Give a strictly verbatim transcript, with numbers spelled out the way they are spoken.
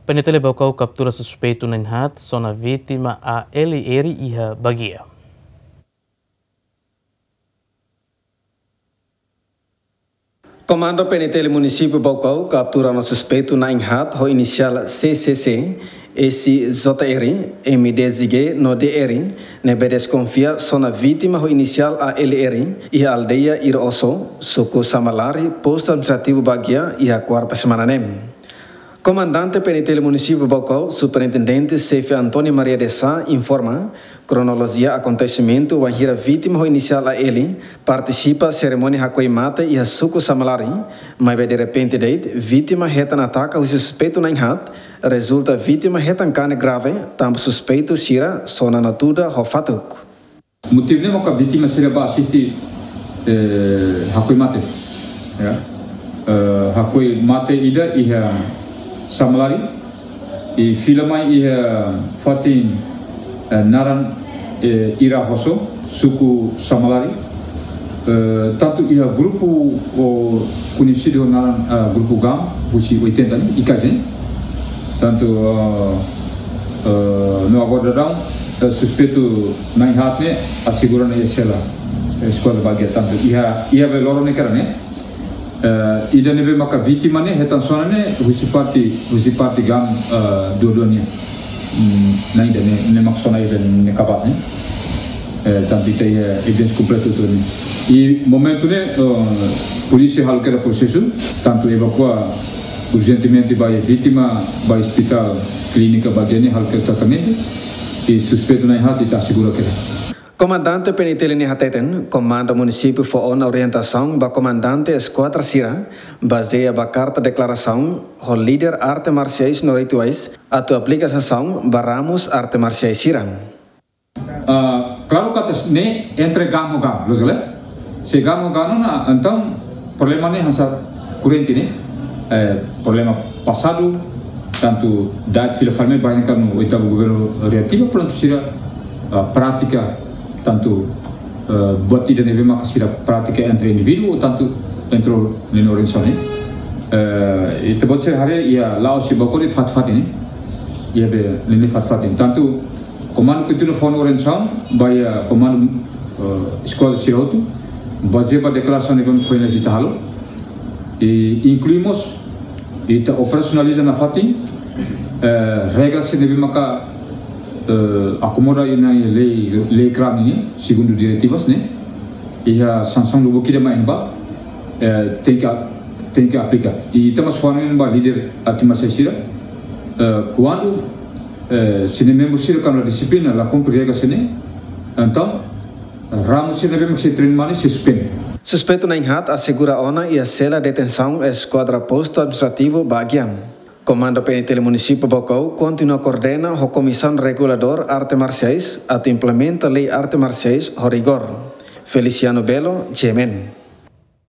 PNTL Baucau kaptura suspeitu na'in-haat, sona vítima A L R iha Baguia. Komandu PNTL Munisípiu Baucau kaptura ona suspeitu na'in-haat ho inisiál C C C, S J R, M D Z G no D R, ne'ebé deskonfia sona vítima ho inisiál A L R, iha aldeia Ira Oso, suku Samalari, postu administrativu Baguia, iha kuarta semana ne'e. Komandante PNTL Munisípiu Baucau, Superintendente Xefe António Maria de Sá, informa kronolojia akontesimentu wainhira vítima ho inisiál A L partisipa serimónia hakoi mate iha suku Samalari, maibé derrepente de'it vítima hetan ataka husi suspeitu na'in-haat, rezulta vítima hetan kanek grave, tanba suspeitu sira sona natuda ho fatuk. Motivu ne'e maka vítima sira bá asiste, eh, hakoi mate. Ya. Eh, hakoi mate ida iha Samalari, i fila mai iha fatin, eh, naran, eh, Ira Oso, suku Samalari. Eh, tantu iha grupu, o, koñesidu naran, eh, grupu GAM, husi oitenta ne'e, I K G. Tantu, eh, eh, no agora daudaun, eh, suspeitu na'in-haat ne'e asegura ona iha sela, eh, Eskuadra Baguia. Tantu iha, iha be loron ne'e karik ne'e, eh, ida ne'ebé maka vítima ne'e hetan sona ne'e husi parte, husi parte GAM, eh, dua-dua nian. Hmm, ne'e ida ne'e, ne'e mak sona ida ne'e kabas ne'e. Eh, tantu ita iha evidénsia kompletu hotu ne'e. I momentu ne'e, eh, polísia halo kedas prosesu, tantu evakua urjentemente ba vítima ba Ospitál Klínika Baguia ne'e halo kedas tratamentu, i suspeitu na'in-haat ita asegura kedas. Komandante PNTL ne'e hateten, Komandu Munisípiu fó ona orientasaun ba komandante eskuadra sira, bazeia ba karta deklarasaun ho líder arte marsiais no rituais, atu aplika sansaun ba ramus arte marsiais sira. Ah, klaru katak ne'e entre GAM ho GAM, loos ka lae? Se GAM ho GAM ona, entaun problema ne'e hanesan korrente ne'e, eh, problema pasadu, tantu da'et fila fali mai ba iha ne'e kan oitavu governu reativa, prontu sira, ah, prátika, tantu, eh, buat ida ne'ebé maka sira prátika entre indivíduu, tantu entre ninia organizasaun ne'e. Eh, ita-boot sira haree iha la'o husi Baucau de'it fatin-fatin ne'e. Iha be ninia fatin-fatin. Tantu, komandu kontinua fó ona orientasaun ba iha komandu, eh, eskuadra sira hotu, bazeia ba deklarasaun ne'ebé foin ita halo. I inklui mós, ita operasionaliza nafatin, eh, regra sira ne'ebé maka, eh, akomoda iha lei, lei krim ne'e, segundu diretivas ne'e, iha sansaun lubuk ida mai ba, eh, tenke, tenke aplika. I ita mós fó ona ba líder arte marsiais sira, eh, kuandu, eh, sira-nia membru sira kuandu la dixiplina, la kumpre regra sira ne'e, entaun, ramus sira ne'ebé mak sei treina mane sei suspende. Suspeitu na'in-haat asegura ona iha sela detensaun Eskuadra Postu Administrativu Baguia. Komandu PNTL Munisípiu Baucau kontinua koordena ho Komisaun Reguladór Arte Marsiais atu implementa lei arte marsiais ho rigór. Feliciano Belo, G M N.